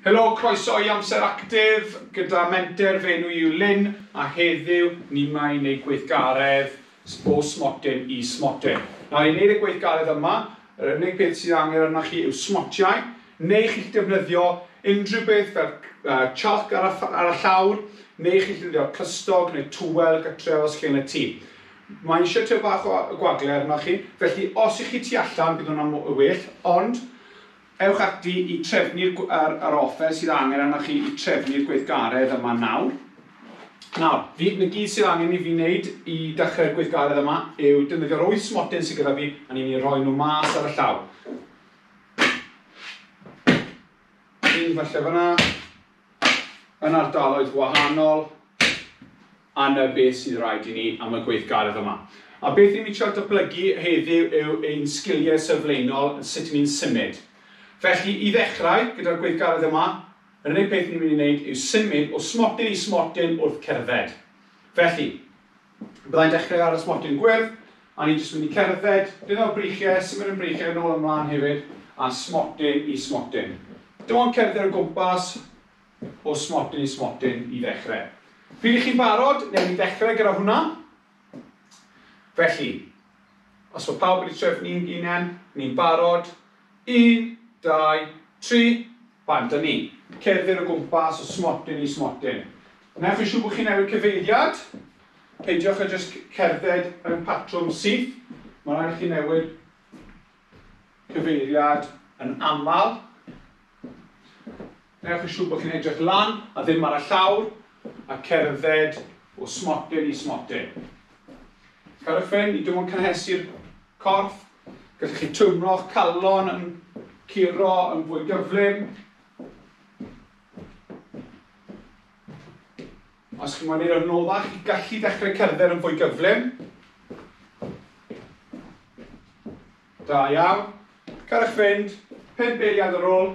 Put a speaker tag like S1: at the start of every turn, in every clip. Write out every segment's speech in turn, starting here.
S1: Helo, croeso i Amser Actif gyda Menter. Fy enw i yw Lynn a heddiw ni yma i wneud gweithgaredd o smotyn i smotyn. Nawr i wneud y gweithgaredd yma, yr unig peth sydd angen arnoch chi yw smotiau, neu chi'ch defnyddio unrhyw beth fel chalk ar y, ar y llawr, neu chi'ch defnyddio clustog neu tywel gytref os chi yn y tŷ. Mae eisiau tyw bach o gwagle arnoch chi, felly os ych chi tu allan bydd hwnna'n well, ond ewch ati i trefnu'r yr, yr offer sydd angen arnoch chi i trefnu'r gweithgaredd yma nawr. Nawr, fi, na gyd sydd angen i fi wneud i dechrau'r gweithgaredd yma yw defnyddio'r 8 smotyn sydd gyda fi a ni'n mynd i rhoi nhw mas ar y llaw. Un falle fyna, yn ardaloedd gwahanol, a 'na beth sydd rhaid i ni am y gweithgaredd yma. A beth ni'n mynd i trio datblygu heddiw yw ein sgiliau sylfaenol yn sut ni'n symud. Felly, i ddechrau gyda'r gweithgaredd yma, yr unig peth ni'n mynd i wneud yw symud o smotyn i smotyn wrth cerdded. Felly, byddai'n dechrau ar y smotyn gwyrdd, a ni'n jyst mynd i cerdded, dim o'r breichiau, symud yn breichiau yn ôl ymlaen hefyd, a smotyn i smotyn. Dim ond cerdded o gwmpas, o smotyn i smotyn i ddechrau. Pryd ych chi'n barod, newn ni ddechrau gyda hwnna. Felly, os mae pawb wedi trefnu'n hunain, ni'n barod. 1, 2, 3, bant â ni. Cerdded o gwmpas o smotyn i smotyn. Newch yn siŵr bod chi'n newid cyfeiriad. Peidiwch â jyst cerdded yn patrwm syth. Mae rhaid i chi newid cyfeiriad yn aml. Newch yn siŵr bod chi'n edrych lan a ddim ar y llawr a cerdded o smotyn i smotyn. Cadwch fynd i dim ond cynhesu'r corff. Gallwch chi twmlo'ch calon yn curo yn fwy gyflym. Os chi'n moyn neud o'n noddach, chi'n gallu dechrau cerdded yn fwy gyflym. Da iawn. Cadwch fynd. 5 eiliad ar ôl.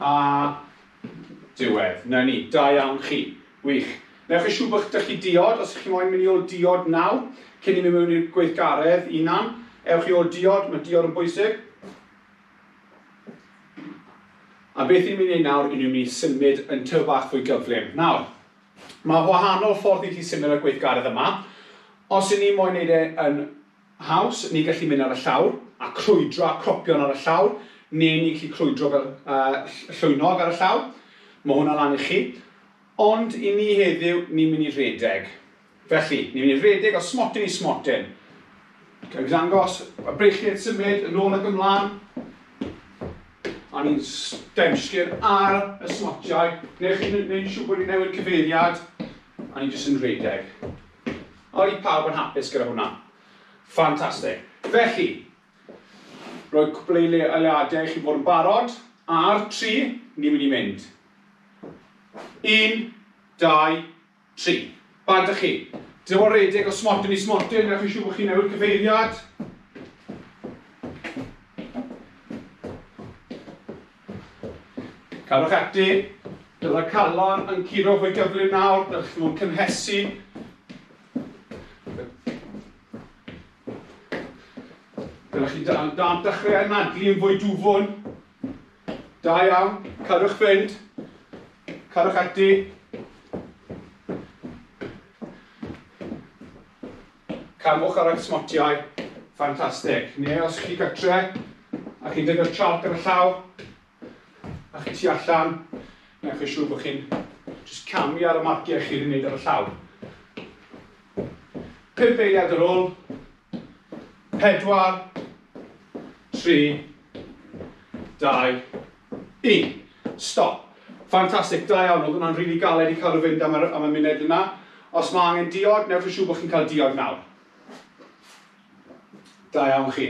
S1: A diwedd. Na ni, da iawn chi. Wych. Newch yn siŵr bod ydych chi diod, os ych chi moyn mynd i ôl diod nawr, cyn i mi mewn i'r gweithgaredd unan. Ewch i ôl diod, mae diod yn bwysig. A beth ni'n mynd i wneud nawr, yw ni'n mynd i symud yn tyf bach fwy gyflym. Nawr, mae wahanol ffordd i chi symud y gweithgaredd yma. Os y'n ni moyn wneud e yn haws, ni'n gallu mynd ar y llawr a crwydro a cropion ar y llawr, neu ni'n gallu crwydro fel llwynog ar y llawr. Mae hwnna lan i chi. Ond i ni heddiw, ni'n mynd i redeg. Felly, ni'n mynd i redeg o smotyn i smotyn. Gael ddangos y breichiau'n symud yn ôl ac ymlaen. A ni'n stemsgir ar y smotiau. Neu chi'n gwneud siŵr bod ni'n newid cyfeiriad. A ni'n jyst yn redeg. Oeddi pawb yn hapus gyda hwnna. Ffantastig. Felly, rhoi cwpl o eiliadau i chi fod yn barod. Ar 3, ni'n mynd i mynd. 1, 2, 3. Bant â chi. Dim ond redeg o smotyn i smotyn, newch yn siŵr bod chi'n newid cyfeiriad. Cadwch ati. Byddai'r calon yn curo fwy gyflym nawr, dylech chi fod yn cynhesu. Dylech chi dechrau anadlu yn fwy dwfwn. Da iawn, cadwch fynd. Cadwch ati. Camwch ar eich smotiau. Ffantastig. Neu os chi gytre a chi'n defnyddio chalk ar y llaw a chi tu allan, newch yn siŵr bod chi'n just camu ar y marciau chi wedi wneud ar y llaw. 5 eiliad ar ôl. 4, 3, 2, 1. Stop. Ffantastig, da iawn. Oedd hwnna'n rili galed i cadw fynd am y, am y munud yna. Os mae angen diod, newch yn siŵr bod chi'n cael diod nawr. Da iawn chi.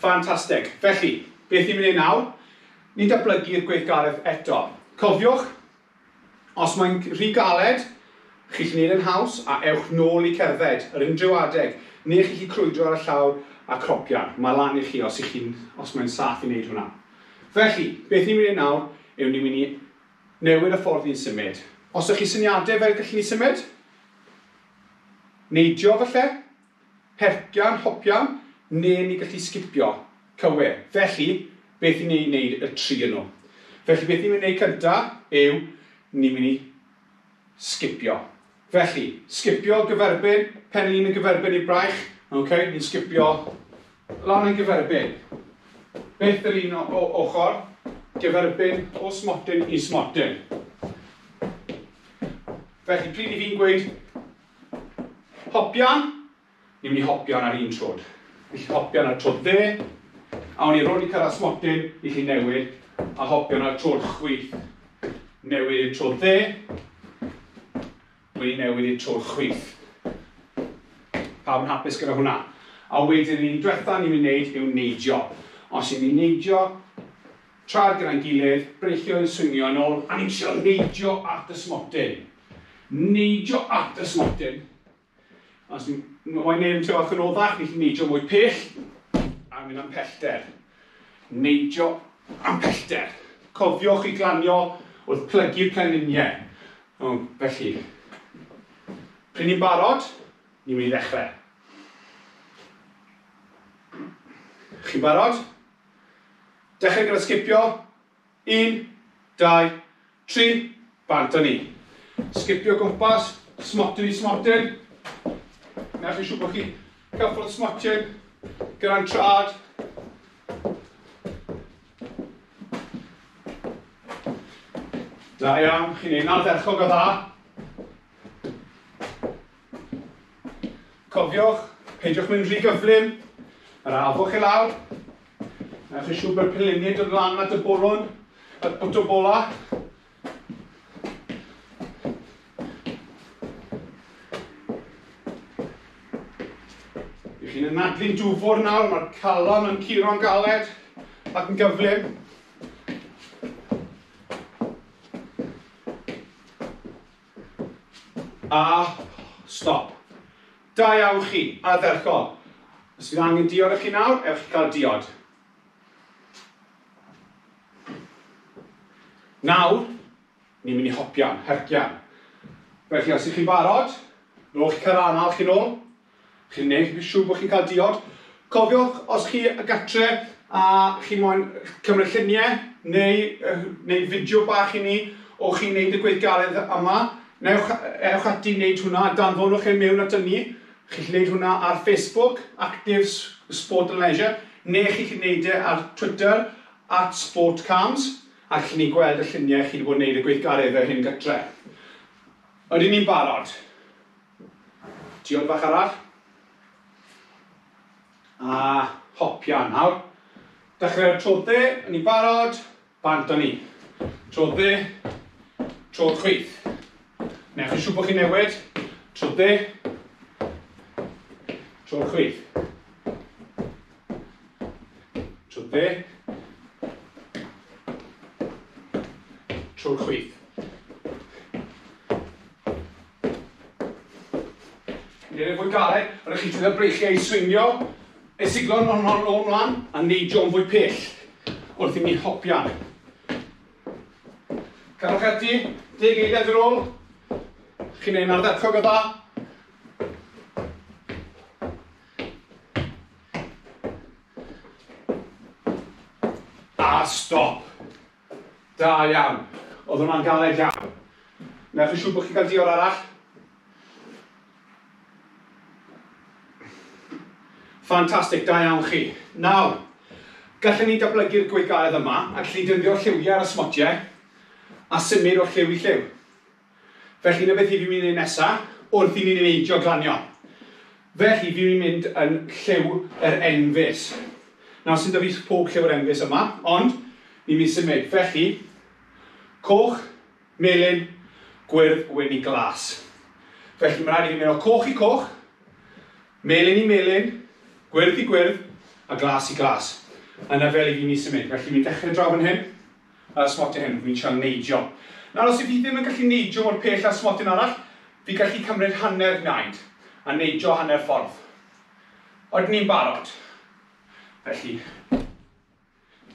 S1: Ffantastig. Felly, beth ni'n mynd i nawr? Ni'n datblygu'r gweithgaredd eto. Cofiwch, os mae'n rhy galed, chi'n gallu gwneud yn haws a ewch nôl i cerdded ar unrhyw adeg, neu chi'n gallu crwydro ar y llawr a cropian. Mae lan i chi os, chi, os mae'n saff i wneud hwnna. Felly, beth ni'n mynd i nawr yw ni'n mynd i newid y ffordd ni'n symud. Os ydych chi syniadau fel gallwn ni symud, neidio falle, hercian, hopian, neu ni gallu sgipio cywir. Felly, beth i ni'n neud y tri yn nhw. Felly, beth ni'n mynd i wneud cyntaf yw ni'n mynd i sgipio. Felly, sgipio gyferbyn, pen un yn gyferbyn i braich. Okay, ni'n sgipio lan yn gyferbyn. Beth yr un o ochr? Gyferbyn o smotyn i smotyn. Felly, pryd i fi'n gweud hopian, ni'n mynd i hopian ar un trod. Felly, hopian ar trod dde, a o'n i rôl i cyrraedd smotyn i chi newid, a hopian ar trod chwith. Newid i'r trod dde, wedi newid i'r trod chwith. Pawb yn hapus gyda hwnna. A wedyn ni'n diwetha ni'n mynd i wneud yw neidio. Os ni'n neidio, traed gyda'n gilydd, breichio yn swingio yn ôl, a ni'n trio neidio at y smotyn. Neidio at y smotyn. Os ni'n moyn neud yn trio bach yn oddach, ni'n gallu neidio mwy pell, a mynd am pellter. Neidio am pellter. Cofiwch i glanio wrth plygu'r pengliniau. O, felly, pryd ni'n barod, ni'n mynd i ddechrau. Chi'n barod? Dechrau gyda sgipio. 1, 2, 3, bant â ni. Sgipio gwmpas, smotyn i smotyn. Newch chi siŵr bod chi cyffwrdd smotyn gyda'n trad. Da iawn, chi'n neud yn ardderchog o dda. Cofiwch, peidiwch mynd rhy gyflym. Yr afwch i lawr. Newch chi siŵr bod pengliniau dod lan at y bolwn, at bwt o bola. Ych chi'n anadlu'n dwfwr nawr, mae'r calon yn curo'n galed ac yn gyflym. A stop. Da iawn chi, ardderchog. Os fydd angen diod ar chi nawr, ewch i gael diod. Nawr, ni'n mynd i hopian, hercian. Felly, os ych chi'n barod, rhowch cyranal chi'n ôl. Chi'n neud siŵr bod chi'n cael diod. Cofiwch, os chi gatre a chi moyn cymryd lluniau neu neu fideo bach i ni o chi'n neud y gweithgaredd yma, newch, ewch ati i wneud hwnna, danfonwch e mewn at ni. Chi'n gallu gwneud hwnna ar Facebook, Active Sport and Leisure, neu chi'n gallu gwneud e ar Twitter, @sportcams, a chi'n ni gweld y lluniau chi wedi bod yn gwneud y gweithgareddau hyn gytre. Ydyn ni'n barod? Diod bach arall. A hopian nawr. Dechrau'r tro dde, yn ni'n barod, bant â ni. Tro dde, tro chwith. Newch yn siŵr bod chi'n newid. Tro dde, tro chwith. Tro dde, tro'r chwith. Nid fwy galed, rydych chi'n trio breichiau i swingio, e siglo yn ôl ymlaen, a neidio'n fwy pell wrth i ni hopian. Cadwch ati, 10 eiliad ar ôl. Chi'n neud yn ardderchog o dda. A stop. Da iawn. Oedd hwnna'n galed iawn. Newch yn siŵr bod chi'n cael diod arall. Ffantastig, da iawn chi. Nawr, gallwn ni datblygu'r gweithgaredd yma a gallu defnyddio'r lliwiau ar y smotiau a symud o lliw i lliw. Felly, na beth i fi'n mynd i wneud nesaf wrth i ni'n neidio glanio. Felly, fi'n mynd yn lliw yr enfys. Nawr, sy'n dyfu pob lliw yr enfys yma, ond ni'n mynd i symud. Felly, coch, melyn, gwyrdd, wyn i glas. Felly, mae'n rhaid i fi mynd o coch i coch, melyn i melyn, gwyrdd i gwyrdd, a glas i glas. A na fel i fi'n mynd i symud. Felly, fi'n dechrau draw fan hyn, a'r smotyn hyn, fi'n siarad neidio. Nawr, os i fi ddim yn gallu neidio mor pell â'r smotyn arall, fi'n gallu cymryd hanner naid a neidio hanner ffordd. Oedden ni'n barod. Felly,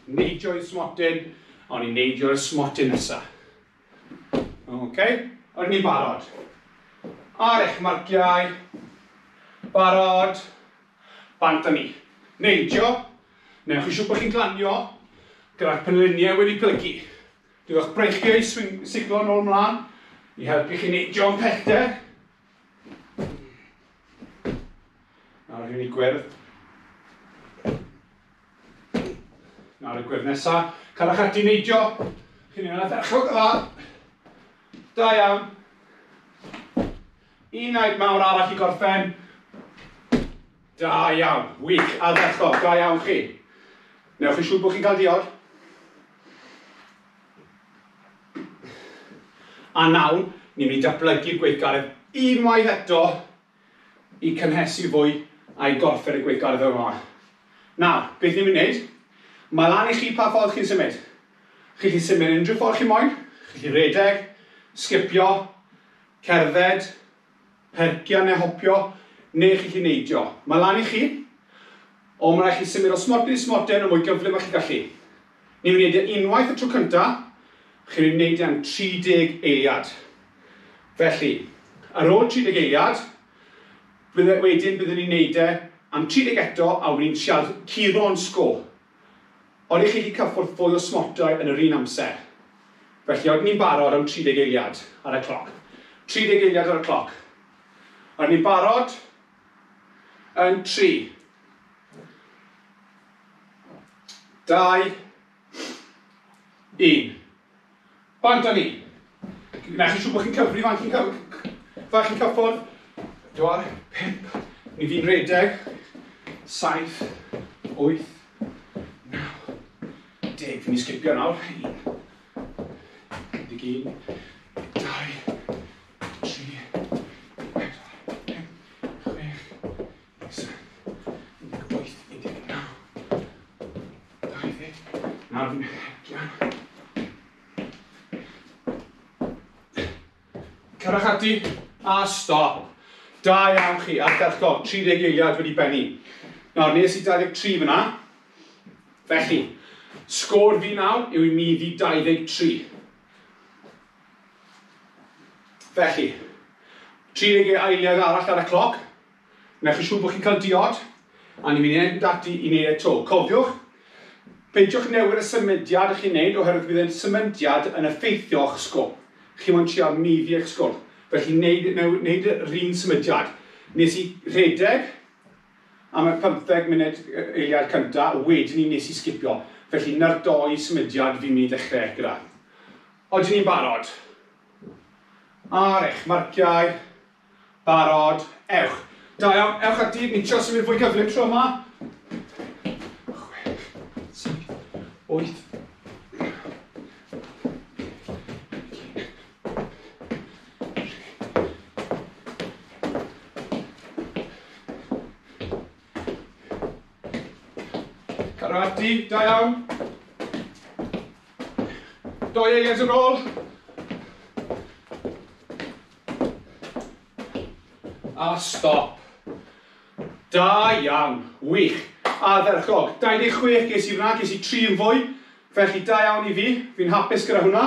S1: neidio i'r smotyn, a o'n i'n neidio i'r smotyn nesaf. Ok, oedden ni'n barod. Ar eich marciau, barod, bant â ni. Neidio, newch chi siŵr bod chi'n glanio gyda'r penliniau wedi plygu. Dewch breichiau siglo nôl ymlaen i helpu chi neidio'n pellter. Nawr rhywun i gwyrdd. Nawr y gwyrdd nesaf. Cadwch ati neidio. Chi'n mynd ardderchog dda. Da iawn. Un naid mawr arall i gorffen. Da iawn. Wych. Ardderchog. Da iawn chi. Newch chi siŵr bod chi'n cael diod. A nawr, ni'n mynd i datblygu'r gweithgaredd unwaith eto i cynhesu fwy a i gorffen y gweithgaredd yma. Nawr, beth ni'n mynd i wneud? Mae lan i chi pa ffordd chi'n symud. Chi'n gallu symud unrhyw ffordd chi moyn. Chi'n gallu redeg, sgipio, cerdded, percio neu hopio, neu chi'n gallu neidio. Mae lan i chi, ond mae rhaid chi symud o smotyn i smotyn yn mwy gyflym â chi'n gallu. Ni'n mynd i wneud e unwaith y tro cyntaf, chi'n mynd i wneud e am 30 eiliad. Felly, ar ôl 30 eiliad, wedyn byddwn ni'n wneud e am 30 eto a wedyn ni'n trial curo'n sgôr. Oeddech chi wedi cyffwrdd fwy o smotau yn yr un amser. Felly, oeddwn ni'n barod am 30 eiliad ar y cloc. 30 eiliad ar y cloc. Oeddwn ni'n barod yn 3, 2, 1. Bant â ni. Newch chi siŵr bod chi'n cyfri fan chi'n cyffwrdd. 4, 5, ni fi'n redeg. 7, 8, 9, 10. Fi'n i sgipio nawr. 1, 11, 2, 3, 4, 5, 6, 7, 18, 19, 20. Nawr fi'n hercian. Cyrrach ati a stop. Da iawn chi, ardderchog, 30 eiliad wedi bennu. Nawr, nes i 23 fyna. Felly, sgôr fi nawr yw i mi ddi 23. Felly, 30 eiliad arall ar y cloc. Newch chi siŵr bod chi'n cael diod, a ni'n mynd i mynd ati i wneud e to. Cofiwch, peidiwch newid y symudiad ych chi'n wneud, oherwydd bydd y symudiad yn effeithio eich sgôr. Chi moyn trial maeddu eich sgôr. Felly, wneud yr un symudiad. Nes i rhedeg am y 15 munud eiliad cyntaf, wedyn ni nes i sgipio. Felly, na'r doi symudiad fi'n mynd i ddechrau gyda. Odyn ni'n barod? Ar eich marciau, barod, ewch. Da iawn, ewch ati, ni'n trio symud fwy gyflym tro yma. 6, 7, 8. Cadw ati, da iawn. 2 eiliad yn ôl. A stop. Da iawn, wych. Ardderchog. 26 ges i fyna, ges i 3 yn fwy. Felly da iawn i fi, fi'n hapus gyda hwnna.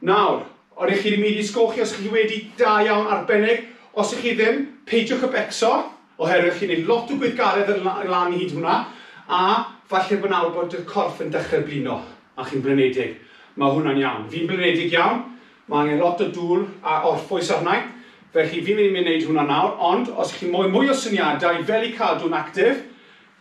S1: Nawr, oeddech chi wedi mynd i sgochi os chi wedi, da iawn arbennig. Os ych chi ddim, peidiwch â becso, oherwydd chi'n gwneud lot o gweithgaredd yn lan i hyd hwnna, a falle bod nawr bod y corff yn dechrau blino, a chi'n blinedig. Mae hwnna'n iawn. Fi'n blinedig iawn, mae angen lot o dŵr a orffwys arna i. Felly fi'n mynd i wneud hwnna nawr, ond os chi'n moyn mwy o syniadau fel i cadw'n actif,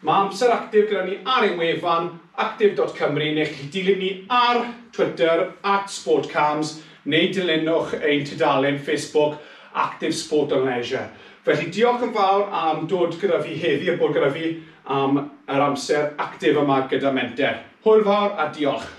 S1: mae amser actif gyda ni ar ein wefan actif.cymru, neu chi dilyn ni ar Twitter @sportcams, neu dilynwch ein tudalen Facebook Active Sport and Leisure. Felly diolch yn fawr am dod gyda fi heddi a bod gyda fi am yr amser actif yma gyda Menter. Hwyl fawr a diolch.